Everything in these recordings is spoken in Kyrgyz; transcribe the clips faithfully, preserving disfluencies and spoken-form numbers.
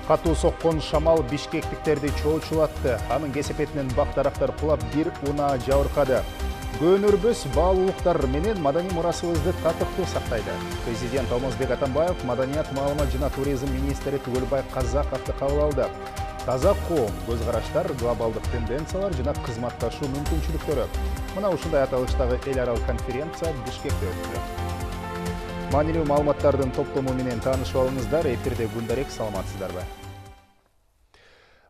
Катуу соккон шамал бишкектиктерди чоочулатты. Анын кесепетинен бак-дарактар кулап, бир унаа жабыркады. Көөнөрбөс баалуулуктар менен маданий мурасыбызды татыктуу сактайды. Президент Алмазбек Атамбаев маданият, маалымат жана туризм министри Түгөлбай Казаковду кабыл алды. Таза коом, көз караштар, глобалдык тенденциялар жана кызматташуу мүмкүнчүлүктөрү. Мына ушундай аталыштагы эл аралык конференция Бишкекте өттү. Маанилүү маалыматтардын топтому менен таанышып алыңыздар. Эфирде Гүлдарек, саламатсыздарбы?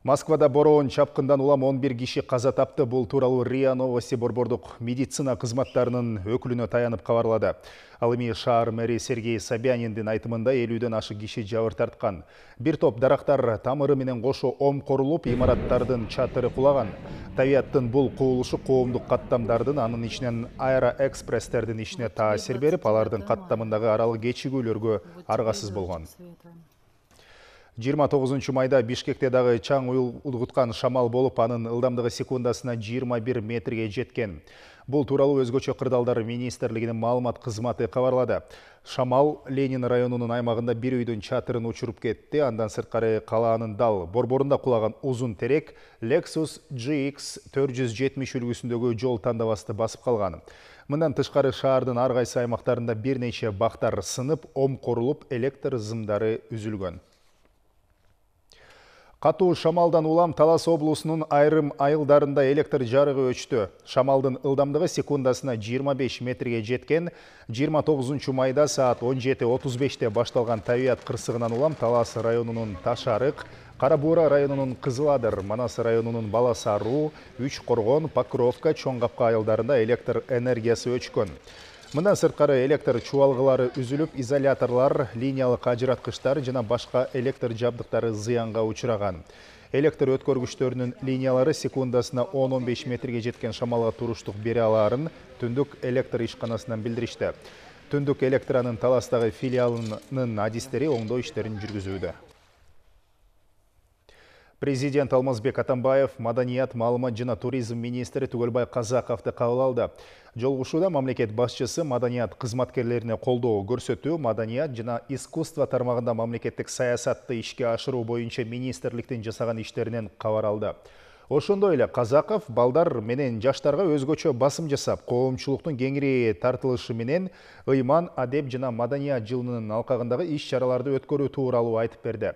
Москвада бороон чапкындан улам он бир киши каза тапты. Бул тууралуу РИА Новости борбордук медицина кызматтарынын өкүлүнө таянып кабарлады. Ал эми шаар мэри Сергей Собяниндин айтымында элүүдөн ашык киши жабыр тарткан. Бир топ дарактар тамыры менен кошо омкорулуп, имараттардын чатыры кулаган. Табиаттын бул кубулушу коомдук каттамдардын, анын ичинен аэроэкспресстердин ишине таасир берип, алардын каттамындагы аралык кечигүүлөргө аргасыз болгон. жыйырма тогузунчу майда Бишкекте дагы чаң улгуткан шамал болуп, анын ылдамдыгы секундасына жыйырма бир метрге жеткен. Бул тууралуу Өзгөчө кырдаалдар министрлигинин маалымат кызматы кабарлады. Шамал Ленин районунун аймагында бир үйдүн чатырын учуруп кетти. Андан сырткары калаанын дал борборунда кулаган узун терек Lexus G X төрт жүз жетимиш үлгүсүндөгү жол тандабасты басып калган. Мындан тышкары шаардын ар кайсы аймактарында бир нече бактар сынып, омкорулуп, электр зымдары үзүлгөн. Катуу шамалдан улам Талас облусунун айрым айылдарында электр жарыгы өчтү. Шамалдын ылдамдыгы секундасына жыйырма беш метрге жеткен. жыйырма тогузунчу майда саат он жети отуз беште башталган табият кырсыгынан улам Талас районунун Ташарык, Кара Буура районунун Кызыл Адыр, Манас районунун Балас Аруу, Үч Коргон, Покровка, Чоң Капка айылдарында электр энергиясы өчкөн. Мындан сырткары электр чубалгылары үзүлүп, изоляторлар, линиялык ажыраткычтар жана башка электр жабдыктары зыянга учураган. Электр өткөргүчтөрүнүн линиялары секундасына он он беш метрге жеткен шамалга туруштук бере алаарын Түндүк электр ишканасынан билдиришти. Түндүк электранын Таластагы филиалынын адистери оңдоо иштерин жүргүзүүдө. Президент Алмазбек Атамбаев маданият, маалымат жана туризм министри Түгөлбай Казаковду кабыл алды. Жолугушууда мамлекет башчысы маданият кызматкерлерине колдоо көрсөтүү, маданият жана искусство тармагында мамлекеттик саясатты ишке ашыруу боюнча министрликтин жасаган иштеринен кабар алды. Ошондой эле Казаков балдар менен жаштарга өзгөчө басым жасап, коомчулуктун кеңири тартылышы менен ыйман, адеп жана маданият жылынын алкагындагы иш-чараларды өткөрүү тууралуу айтып берди.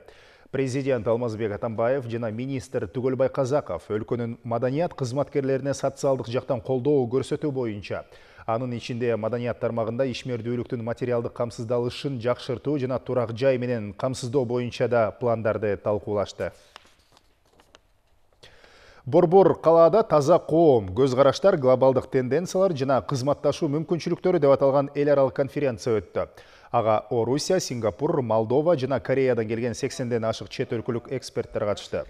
Президент Алмазбек Атамбаев жана министр Түгөлбай Казаков өлкөнүн маданият кызматкерлерине социалдык жактан колдоо көрсөтүү боюнча, анын ичинде маданият тармагында ишмердүүлүктүн материалдык камсыздалышын жакшыртуу жана турак жай менен камсыздоо боюнча да пландарды талкуулашты. Борбор калаада таза коом, көз караштар, глобалдык тенденциялар жана кызматташуу мүмкүнчүлүктөрү деп аталган эл аралык конференция өттү. Ага Орусия, Сингапур, Молдова жана Кореядан келген сексенден ашык чет өлкөлүк эксперттер катышты.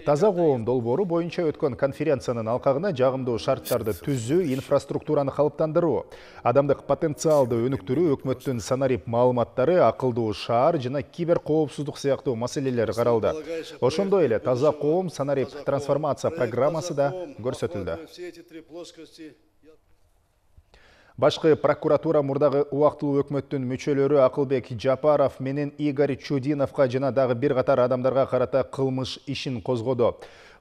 Таза коом долбоору боюнча өткөн конференциянын алкагына жагымдуу шарттарды түзүү, инфраструктураны калыптандыруу, адамдык потенциалды өнүктүрүү, өкмөттүн санарип маалыматтары, акылдуу шаар жана кибер коопсуздук сыяктуу маселелер каралды. Ошондой эле таза коом санарип трансформация программасы да көрсөтүлдү. Башкы прокуратура мурдагы убактылуу өкмөттүн мүчөлөрү Акылбек Жапаров менен Игорь Чудиновго жана дагы бир катар адамдарга карата кылмыш ишин козгоду.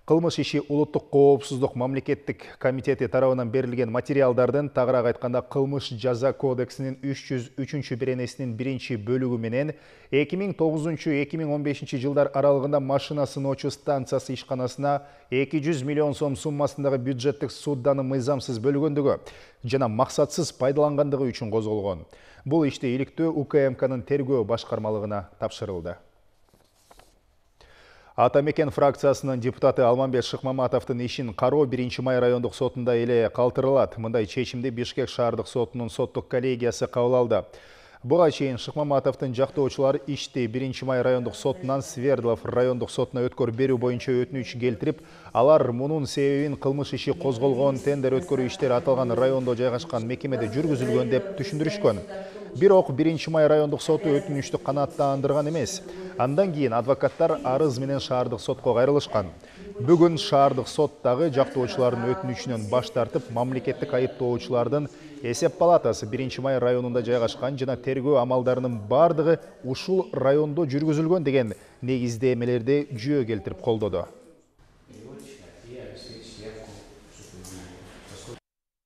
Кылмыш иши Улуттук коопсуздук мамлекеттик комитети тарабынан берилген материалдардын, тагыраак айтканда кылмыш жаза кодексинин үч жүз үчүнчү беренесинин биринчи бөлүгү менен эки миң тогузунчу эки миң он бешинчи жылдар аралыгында машина сыноочу станциясы ишканасына эки жүз миллион сом суммасындагы бюджеттик судданы мыйзамсыз бөлгөндүгү жана максатсыз пайдалангандыгы үчүн козголгон. Бул ишти иликтөө У К М Кнын тергөө башкармалыгына тапшырылды. Ата Мекен фракциясынын депутаты Алмамбет Шыкмаматовдун ишин кароо биринчи май райондук сотунда эле калтырылат. Мындай чечимди Бишкек шаардык сотунун соттук коллегиясы кабыл алды. Буга чейин Шыкмаматовдун жактоочулары ишти биринчи май райондук сотунан Свердлов райондук сотуна өткөрүп берүү боюнча өтүнүч келтирип, алар мунун себебин кылмыш иши козголгон, тендер өткөрүү иштери аталган райондо жайгашкан мекемеде жүргүзүлгөн деп түшүндүрүшкөн. Бирок биринчи май райондук соту өтүнүчтү канааттандырган эмес. Андан кийин адвокаттар арыз менен шаардык сотко кайрылышкан. Бүгүн шаардык соттагы жактоочулардын өтүнүчүнөн баш тартып, мамлекеттик айыптоочулардын эсеп палатасы биринчи май районунда жайгашкан жана тергөө амалдарынын бардыгы ушул райондо жүргүзүлгөн деген негиздемелерди жүйө келтирип колдоду.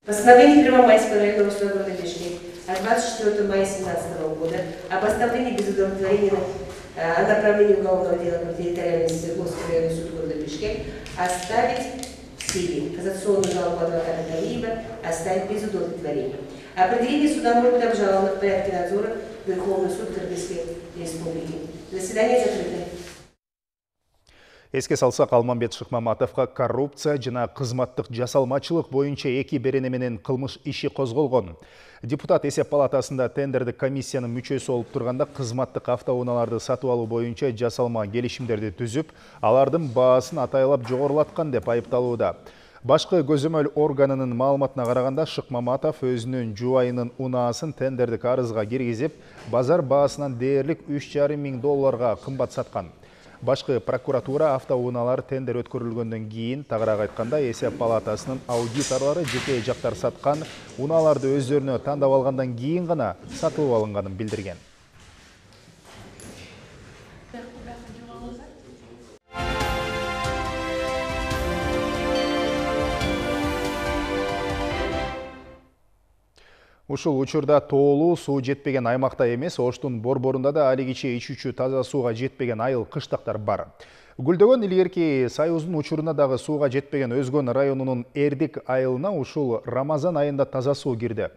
Постановление Первомайского районного суда города Бишкек от двадцать четвёртого мая две тысячи семнадцатого года о постановлении без удовлетворения о направлении уголовного дела в территориальный Свердловский районный суд города Бишкек оставить в силе. Кассационную жалобу адвоката Талиева оставить без удовлетворения. Определение суда может быть обжаловано в порядке надзора в Верховный суд Кыргызской республики. Заседание закрыто. Эске салсак, Алмамбет Шыкмаматовго коррупция жана кызматтык жасалмачылык боюнча эки берене менен кылмыш иши козголгон. Депутат эсеп палатасында тендердик комиссиянын мүчөсү болуп турганда кызматтык автоунааларды сатып алуу боюнча жасалма келишимдерди түзүп, алардын баасын атайлап жогорулаткан деп айыпталууда. Башкы көзөмөл органынын маалыматына караганда, Шыкмаматов өзүнүн жубайынын унаасын тендердик арызга киргизип, базар баасынан дээрлик үч жарым миң долларга кымбат саткан. Башкы прокуратура автоунаалар тендер өткөрүлгөндөн кийин, тагыраак айтканда, эсеп палатасынын аудиторлору жеке жактар саткан унааларды өздөрүнө тандап алгандан кийин гана сатылып алынганын билдирген. Ушул учурда тоолуу суу жетпеген аймакта эмес, Оштун борборунда да алигиче ичүүчү таза сууга жетпеген айыл кыштактар бар. Гүлдөгөн илгерки Союздун учуруна дагы сууга жетпеген Өзгөн районунун Эрдик айылына ушул Рамазан айында таза суу кирди.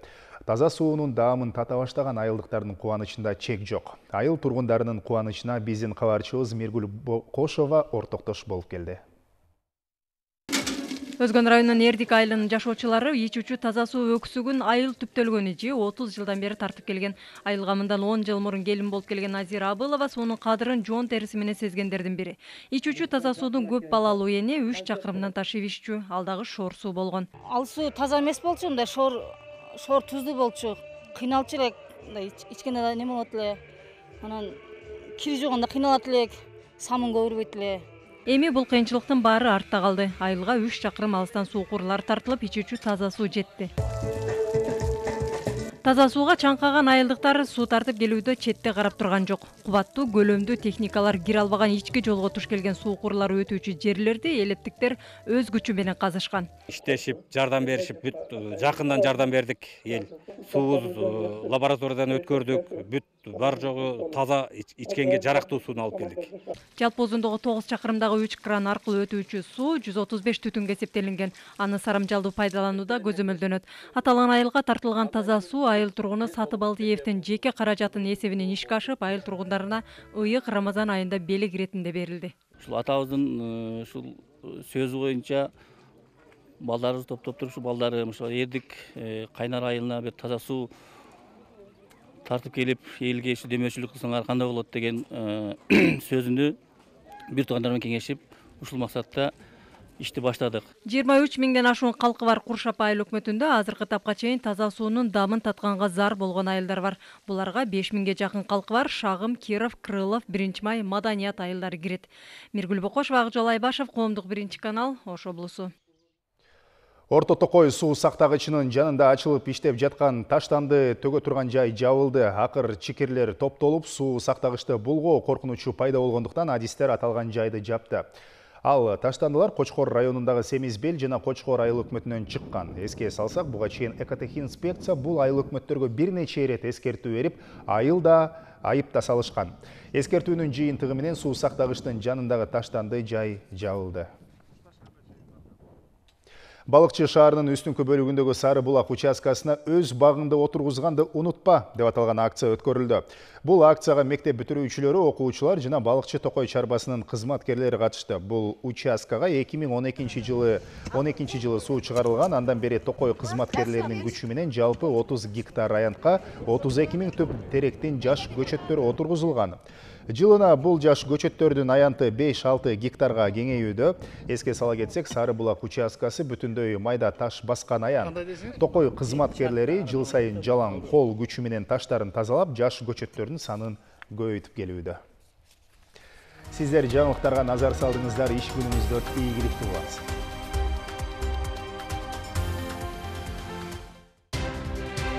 Таза суунун даамын тата баштаган айылдыктардын кубанычында чек жок. Айыл тургундарынын кубанычына биздин кабарчыбыз Миргүл Кошова ортоктош болуп келди. Өзгөн районунун Эрдик айылынын жашоочулары ичүүчү таза суу өксүгүн айыл түптөлгөнү же отуз жылдан бери тартып келген. Айылга мындан он жыл мурун келин болуп келген Азира Абылова суунун кадырын жоон териси менен сезгендердин бири. Ичүүчү таза суудун көп балалуу эне үч чакырымдан ташып иччү, ал дагы шоор суу болгон. Ал суу таза эмес болчу, мындай шоор шоор туздуу болчу. Кыйналчу элек, мындай ичкенде да неме болот эле. Анан кири жуганда кыйналат элек, самын көбүрбөйт эле. Эми бул кыйынчылыктын баары артта калды. Айылга үч чакырым алыстан суу курулары тартылып, ичүүчү таза суу жетти. Таза сууга чаңкаган айылдыктар суу тартып келүүдө четте карап турган жок. Кубаттуу, көлөмдүү техникалар кире албаган ички жолго туш келген суу курулары өтүүчү жерлерди элеттиктер өз күчү менен казышкан. Иштешип, жардам беришип, бүт жакындан жардам бердик эл. Суубуз лабораториядан өткөрдүк, бүт бар жогу таза ичкенге жарактуу сууну алып келдик. Жалпы узундугу тогуз чакырымдагы үч кран аркылуу өтүүчү суу жүз отуз беш түтүнгө эсептелинген. Аны сарамжалдуу пайдаланууда көзөмөлдөнөт. Аталган айылга тартылган таза суу айыл тургуну Сатыбалдиевдин жеке каражатынын эсебинен ишке ашып, айыл тургундарына ыйык Рамазан айында белек иретинде берилди. Ушул атабыздын ушул сөзү боюнча балдарыбыз топтоп туруп, балдары ошо Эрдик Кайнар айылына бир таза суу тартып келип, элге ушу демөөрчүлүк кылсаңар кандай болот деген сөзүнү бир туугандар менен кеңешип, ушул максатта ишти баштадык. жыйырма үч миңден ашуун калкы бар Куршап айыл өкмөтүндө азыркы тапка чейин таза суунун дамын татканга зар болгон айылдар бар. Буларга беш миңге жакын калкы бар Шагым, Киров, Крылов, биринчи май, Маданият айылдары кирет. Миргүл Бокошова, Акжол Айбашев, Коомдук биринчи канал, Ош облусу. Орто Токой суу сактагычынын жанында ачылып иштеп жаткан таштанды төгө турган жай жабылды. Акыр чикирлер топтолуп, суу сактагычты булгоо коркунучу пайда болгондуктан адистер аталган жайды жапты. Ал таштандылар Кочкор районундагы Семизбел жана Кочкор айыл өкмөтүнөн чыккан. Эске салсак, буга чейин экотехинспекция бул айыл өкмөттөргө бир нече ирет эскертүү берип, айылда айып да салышкан. Эскертүүнүн жыйынтыгы менен суу сактагычтын жанындагы таштанды жай жабылды. Балыкчы шаарынын үстүнкү бөлүгүндөгү Сары булак участкасына өз багыңды отургузганды унутпа деп аталган акция өткөрүлдү. Бул акцияга мектеп бүтүрүүчүлөрү, окуучулар жана Балыкчы Токой чарбасынын кызматкерлери катышты. Бул участкага эки миң он экинчи жылы он экинчи жылы суу чыгарылган. Андан бери Токой кызматкерлеринин күчү менен жалпы отуз гектар аянтка отуз эки миң түп теректин жаш көчөттөр отургузулган. Жылына бул жаш көчөттөрдүн аянты беш алты гектарга кеңейүүдө. Эске сала кетсек, Сары булак участкасы бүтүндөй майда таш баскан аян. Токой кызматкерлери жыл сайын жалаң кол күчү менен таштарын тазалап, жаш көчөттөрдүн санын көбөйтүп келүүдө. Сиздер жаңылыктарга назар салдыңыздар, иш күнүңүздөр ийгиликтүү болот.